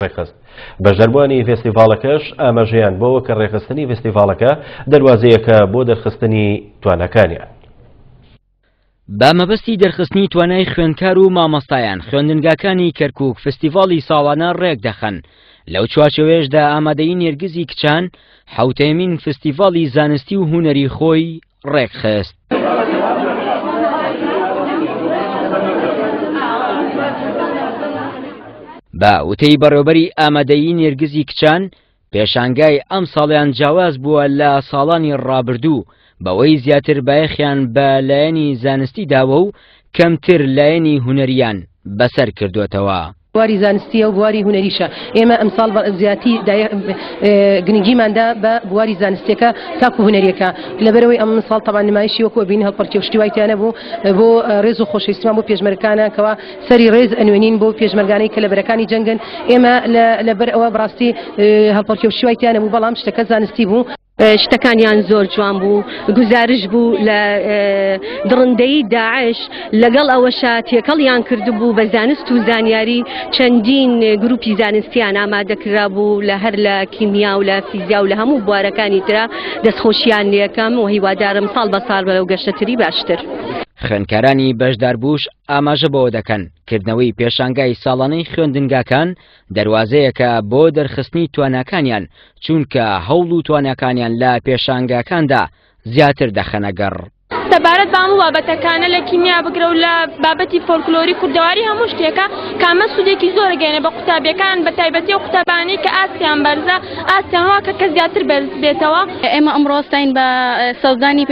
ڕێکخست. بەشداربووانی ڤێستیڤاڵەکەش ئاماژەیان بەوە کە ڕێکخستنی ڤێستیڤاڵەکە دەروازەیەکە بۆ دەرخستنی تواناکانیان. بە مەبەستی دەرخستنی توانای خوێندکار و مامۆستایان خوێندنگاکانی کەرکوک فستیڤاڵی ساڵانە ڕێکدەخەن لەو چوارچێوەیەشدا ئامادەیی نێرگزی کچان حەوتەمین فستیڤاڵی زانستی و هونەری خۆی ڕێکخست. بە وتەی بەڕێوبەری ئامادەیی نێرگزی کچان پێشانگای ئەمساڵیان جیاواز بووە لە ساڵانی ڕابردوو بەوەی زیاتر بایەخیان بە لایەنی زانستی داوە و کەمتر لایەنی هونەریان بەسەر کردوێتەوە. بواری زانستیە و بواری هونەریشە ئێمە ئەمساڵ زیاتی گرنگیمان دا بە بواری زانستیەکە تاکو هونەریەکە لەبەرەوەی ئەم ساڵ تەبان نمایشی وەکو ئەبینی هەڵپەڕکێ و شتی وای تیا نەبوو بۆ ڕێز و خۆشەویستیمان بۆ پێشمەرگەکانە کەوا سەری ڕێز ئەنوێنین بۆ پێشمەرگانەی کە لە بەرەکانی جەنگن ئێمە لەبەر ئەوە بەڕاستی هەڵپەڕکێ و شتی وای تیا نەبوو بەڵام شتەکە زانستی بوو. شتەکانیان زۆر جوان بوو گوزارش بوو لە دڕندەیی داعش لەگەڵ ئەوەشا تێکەڵیان کردبوو بە زانست و زانیاری چەندین گروپی زانستیان ئامادەکرابوو لە هەر لە کیمیا و لە فیزیا و لە هەموو بوارەکانی ترا دەستخۆشیان لێکەم و هیوادارم ساڵ بە ساڵ بەرەو گەشەتری باشتر. خوێندکارانی بەشداربووش ئاماژە بەوە دەکەن، کردنەوەی پێشانگای ساڵانەی خوێندنگاکان دەروازەیەکە بۆ دەرخستنی تواناکانیان، چونکە هەوڵ و تواناکانیان لە پێشانگاکاندا زیاتر دەخەنە گەڕ. سەبارەت بە هەموو بابەتەکانە لە کیمیا بگرە و لە بابەتی فۆلکلۆری کوردەواری هەموو شتێکە کە ئەمە سوودێکی زۆر گەێنێ بە قوتابیەکان بە تایبەتی ئەو قوتابانەی کە ئاستیان بەرزە ئاستیان وا کە کە زیاتر بەرز بێتەوە. ئێمە ئەمڕۆ هەستاین بە سەوزدانی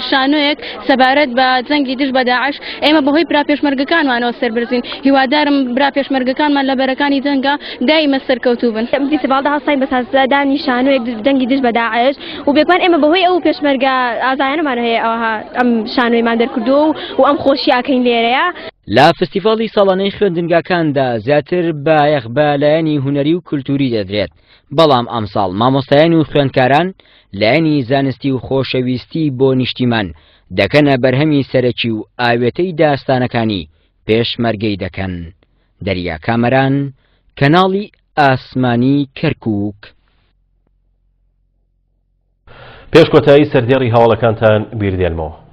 شانۆیەک سەبارەت بە جەنگی دژ بە داعش، ئێمە بەهۆی برا پێشمەرگەکانمانەوە سەربەرزین، هیوادارم برا پێشمەرگەکانمان لە بەرەکانی جەنگا دایمە سەرکەوتوو بن. لەم فیستیڤاڵدا هەستاین بە سازدانی شانۆیەک جەنگی دژ بە داعش و بێگومان ئێمە بەهۆی ئەو پێشمەرگە ئازایانەمان هەیە ئەوها ئەم شانۆیمان دەرکردووە و ئەم خۆشیە ئەکەین لێرەیە. لە فستیڤاڵی ساڵانەی خوێندنگاکاندا زیاتر بایەخ بە لایەنی هونەری و کولتووری دەدرێت، بەڵام ئەمساڵ مامۆستایان و خوێندکاران لایەنی زانستی و خۆشەویستی بۆ نیشتیمان دەکەنە بەرهەمی سەرەکی و ئاوێتەی داستانەکانی پێشمەرگەی دەکەن. دەریا کامەران، کەناڵی ئاسمانی کەرکووک. پێش کۆتایی سەردێڕی هەواڵەکانتان بیردێنمەوە.